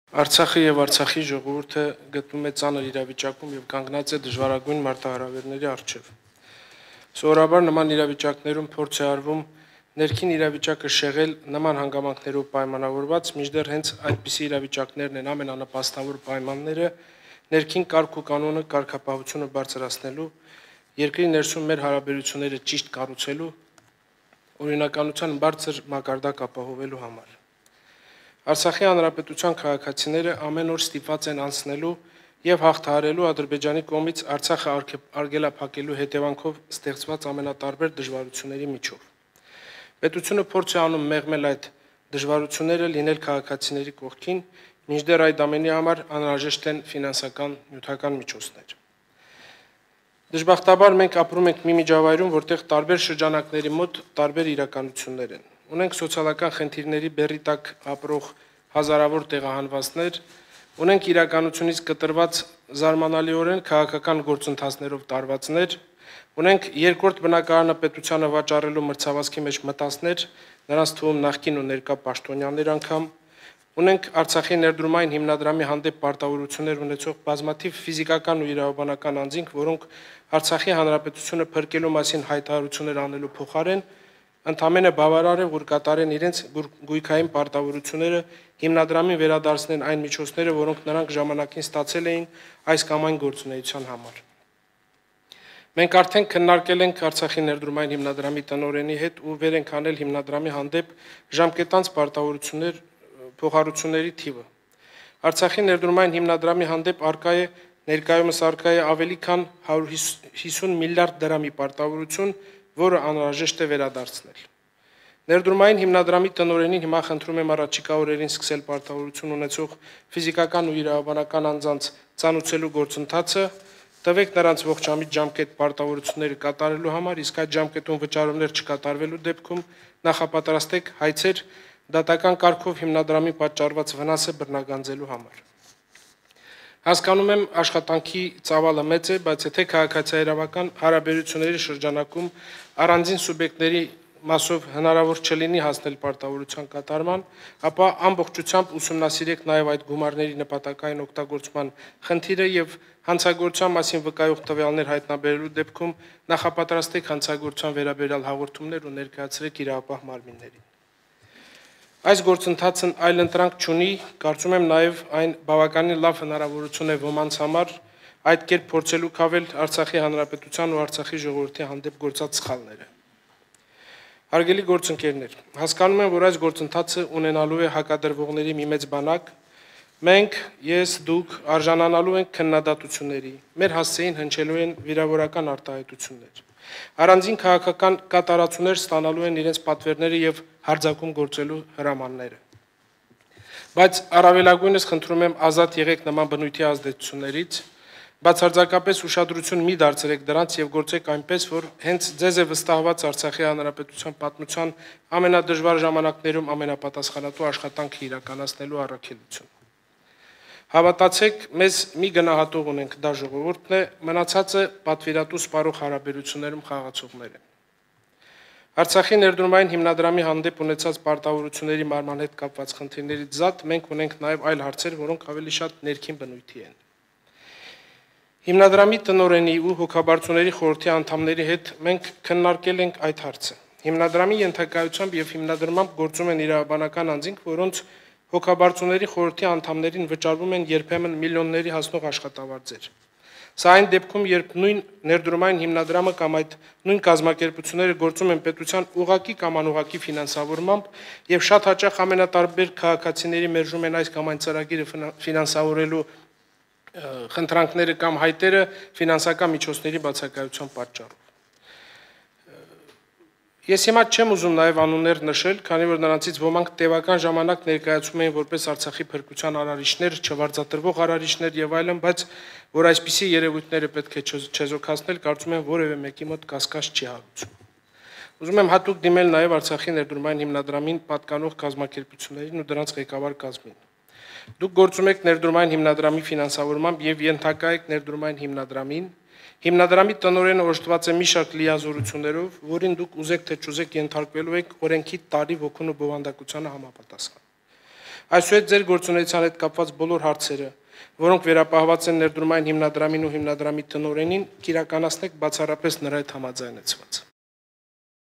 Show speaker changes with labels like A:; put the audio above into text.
A: Արցախը եւ Արցախի ժողովուրդը գտնվում է ծանր իրավիճակում եւ կանգնած է դժվարագույն մարտահրավերների առջեւ։ Սովորաբար նման իրավիճակներում փորձ է արվում ներքին իրավիճակը շեղել նման հանգամանքներով պայմանավորված, մինչդեռ հենց այդպիսի իրավիճակներն են ամենանպաստավոր պայմանները ներքին կարգ ու կանոնը կարգապահությունը բարձրացնելու, երկրի ներսում մեր հարաբերությունները ճիշտ կառուցելու, օրինականության բարձր մակարդակ ապահովելու համար։ Արցախի հանրապետության քաղաքացիները ամեն օր ստիպված են անցնելու եւ հաղթահարելու Ադրբեջանի կողմից Արցախը արգելափակելու հետևանքով ստեղծված ամենատարբեր դժվարությունների միջով։ Պետությունը փորձ է անում մեղմել այդ դժվարությունները, լինել քաղաքացիների կողքին, մինչդեռ այդ ամենի համար անհրաժեշտ են ֆինանսական նյութական միջոցներ։ Դժբախտաբար մենք ապրում ենք մի միջավայրում, որտեղ տարբեր շրջանակների մոտ տարբեր իրականություններ են։ Ունենք սոցիալական խնդիրների բեռի տակ ապրող հազարավոր տեղահանվածներ, ունենք իրականությունից կտրված զարմանալիորեն քաղաքական գործընթացներով տարվածներ, ունենք երկրորդ բնակարանը պետությանը վաճառելու մրցավազքի մեջ մտածներ, նրանց թվում նախկին ու ներկա պաշտոնյաներ անգամ, ունենք Արցախի ներդրումային հիմնադրամի հանդեպ պարտավորություններ ունեցող բազմաթիվ ֆիզիկական ու իրավաբանական անձինք, որոնք Արցախի հանրապետությունը փրկելու մասին հայտարարություններ անելու փոխարեն ընդամենը բավարար է, որ կատարեն իրենց գույքային պարտավորությունները հիմնադրամին վերադարձնեն այն միջոցները, որոնք նրանք ժամանակին ստացել էին այս կամ այն գործունեության համար։ Մենք արդեն քննարկել ենք Արցախի ներդրումային հիմնադրամի տնօրենի հետ ու վեր ենք անել հիմնադրամի հանդեպ ժամկետանց պարտավորություններ փոխհարությունների թիվը։ Արցախի ներդրումային հիմնադրամի հանդեպ ներկայումս արկա է ավելի քան 150 միլիարդ դրամի պարտավորություն, որը անհրաժեշտ է վերադարձնել։ Ներդրումային հիմնադրամի տնօրենին հիմա խնդրում եմ առաջիկա օրերին սկսել պարտավորություն ունեցող ֆիզիկական ու իրավաբանական անձանց ծանուցելու գործընթացը, տվեք նրանց ողջամիտ ժամկետ պարտավորությունները կատարելու համար, իսկ այդ ժամկետում վճարումներ չկատարվելու դեպքում նախապատրաստեք հայցեր դատական կարգով հիմնադրամի պատճառված վնասը բռնագանձելու համար։ Հասկանում եմ աշխատանքի ծավալը մեծ է, բայց եթե քաղաքացիահարավական հարաբերությունների շրջանակում առանձին սուբյեկտների մասով հնարավոր չլինի հասնել պարտավորության կատարման, ապա ամբողջությամբ ուսումնասիրեք նաև այդ գումարների նպատակային օգտագործման խնդիրը եւ հանցագործության մասին վկայող տվյալներ հայտնաբերելու դեպքում նախապատրաստեք հանցագործության վերաբերյալ հաղորդումներ ու ներկայացրեք իրավապահ մարմիններին։ Այս գործընթացն այլընտրանք չունի, կարծում եմ նաև այն բավականին լավ հնարավորություն է ոմանց համար այդ կերպ փորձելու քավել Արցախի հանրապետության ու Արցախի ժողովրդի հանդեպ գործած սխալները։ Հարգելի գործընկերներ, հասկանում եմ, որ այս գործընթացը ունենալու է հակադրվողների մի մեծ բանակ, մենք, ես, դուք արժանանալու ենք քննադատությունների, մեր հասցեին հնչելու են վիրավորական արտահայտություններ։ Առանձին քաղաքական կատարածություններ ստանալու են իրենց պատվերները եւ հարձակում գործելու հրամանները։ Բայց առավելագույնս խնդրում եմ ազատ եղեք նման բնույթի ազդեցություններից, բացարձակապես ուշադրություն մի դարձրեք դրանց եւ գործեք այնպես, որ հենց ձեզ է վստահված Արցախի հանրապետության պատմության ամենադժվար ժամանակներում ամենապատասխանատու աշխատանքը իրականացնելու առաքելություն։ Հավատացեք, մեզ մի գնահատող ունենք, դա ժողովուրդն է, մնացածը պատվիրատու սպառող հարաբերություններում խաղացողներ են։ Արցախի ներդրումային հիմնադրամի հանդեպ ունեցած պարտավորությունների մարման հետ կապված խնդիրներից զատ մենք ունենք նաև այլ հարցեր, որոնք ավելի շատ ներքին բնույթի են։ Հիմնադրամի տնօրենի ու հոգաբարձուների խորհրդի անդամների հետ մենք քննարկել ենք այդ հարցը։ Հիմնադրամի ենթակայությամբ եւ հիմնադրամամբ գործում են իրավաբանական անձինք, որոնց հոգաբարձուների խորհրդի անդամներին վճարվում են երբեմն միլիոնների հասնող աշխատավարձեր։ Սա այն դեպքում, երբ նույն ներդրումային հիմնադրամը կամ այդ նույն կազմակերպությունները գործում են պետության ուղղակի կամ անուղղակի ֆինանսավորմամբ եւ շատ հաճախ ամենատարբեր քաղաքացիների մերժում են այս կամ այն ծրագիրը ֆինանսավորելու խնդրանքները կամ հայտերը ֆինանսական միջոցների բացակայության պատճառով։ Ես հիմա չեմ ուզում նաև անուններ նշել, քանի որ նրանցից ոմանք տևական ժամանակ ներկայացում էին որպես Արցախի փրկության արարիչներ, չվարձատրվող արարիչներ եւ այլն, բայց որ այսպիսի երևույթները պետք է չեզոքացնել, կարծում եմ որևէ մեկի մոտ կասկած չի հարուցում։ Ուզում եմ հատուկ դիմել նաև Արցախի ներդրումային հիմնադրամին պատկանող կազմակերպություններին ու դրանց ղեկավար կազմին։ Դուք գործում եք ներդրումային հիմնադրամի ֆինանսավորմամբ եւ ենթակա եք ներդրումային հիմնադրամին։ Հիմնադրամի տնօրենը օժտված է մի շարք լիազորություններով, որին դուք ուզեք թե չուզեք ենթարկվելու եք օրենքի տարի ոգուն ու բովանդակությանը համապատասխան։ Այսուհետ ձեր գործունեության հետ կապված բոլոր հարցերը, որոնք վերապահված են ներդրումային հիմնադրամին ու հիմնադրամի տնօրենին, կիրականացնեք բացառապես նրա հետ համաձայնեցված։